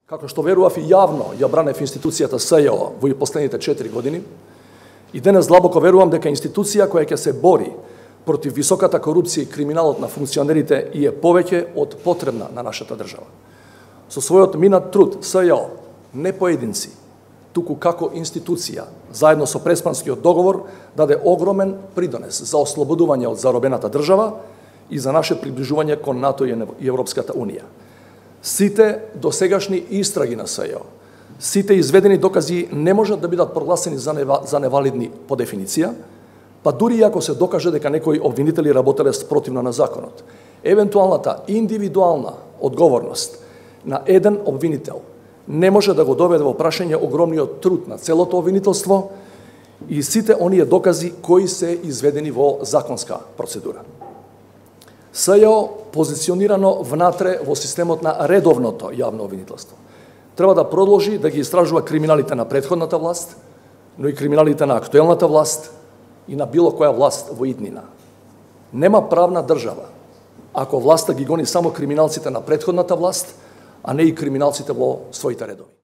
Како што верував и јавно ја бранев институцијата СЈО во последните 4 години, и денес длабоко верувам дека институција која ќе се бори против високата корупција и криминалот на функционерите и е повеќе од потребна на нашата држава. Со својот минат труд СЈО, не поединци, туку како институција, заедно со Преспанскиот договор, даде огромен придонес за ослободување од заробената држава и за наше приближување кон НАТО и Европската Унија. Сите досегашни истраги на СЈО, сите изведени докази не можат да бидат прогласени за невалидни по дефиниција, па дури и ако се докаже дека некои обвинители работеле спротивно на законот. Евентуалната индивидуална одговорност на еден обвинител не може да го доведе во прашање огромниот труд на целото обвинителство и сите оние докази кои се изведени во законска процедура. СЈО позиционирано внатре во системот на редовното јавно обвинителство треба да продолжи да ги истражува криминалите на претходната власт, но и криминалите на актуелната власт и на било која власт во иднина. Нема правна држава ако власта ги гони само криминалците на претходната власт, а не и криминалците во своите редови.